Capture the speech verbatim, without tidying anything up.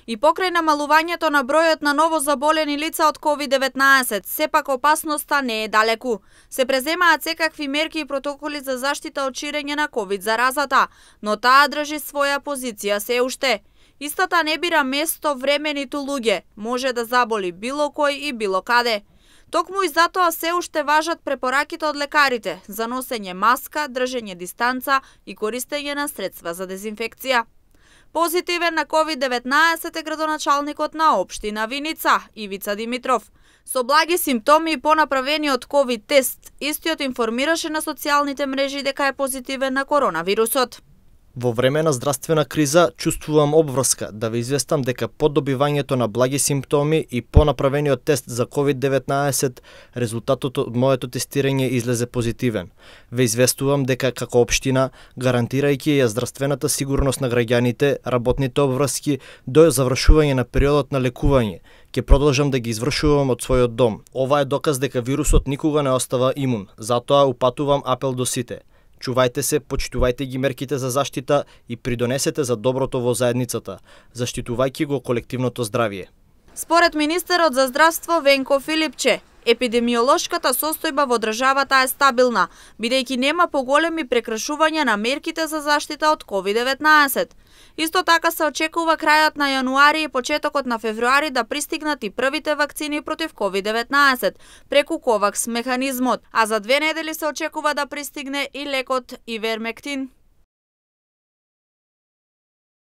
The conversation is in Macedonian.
И покрај намалувањето на бројот на ново заболени лица од ковид деветнаесет, сепак опасноста не е далеку. Се преземаат секакви мерки и протоколи за заштита од ширење на ковид заразата, но таа држи своја позиција се уште. Истата не бира место, време ниту луѓе, може да заболи било кој и било каде. Токму и затоа се уште важат препораките од лекарите за носење маска, држење дистанца и користење на средства за дезинфекција. Позитивен на ковид деветнаесет е градоначалникот на општина Виница, Ивица Димитров. Со благи симптоми и понаправениот ковид тест, истиот информираше на социјалните мрежи дека е позитивен на коронавирусот. Во време на здравствена криза чувствувам обврска да ве известам дека по добивањето на благи симптоми и по направениот тест за ковид деветнаесет резултатот од моето тестирање излезе позитивен. Ве известувам дека како општина, гарантирајќи ја здравствената сигурност на граѓаните, работните обврски до завршување на периодот на лекување, ќе продолжам да ги извршувам од својот дом. Ова е доказ дека вирусот никога не остава имун, затоа упатувам апел до сите. Чувајте се, почитувајте ги мерките за заштита и придонесете за доброто во заедницата, заштитувајќи го колективното здравје. Според министерот за здравство Венко Филипче, епидемиолошката состојба во државата е стабилна, бидејќи нема поголеми прекршувања на мерките за заштита од ковид деветнаесет. Исто така се очекува крајот на јануари и почетокот на февруари да пристигнат и првите вакцини против ковид деветнаесет преку ковакс механизмот, а за две недели се очекува да пристигне и лекот Ивермектин.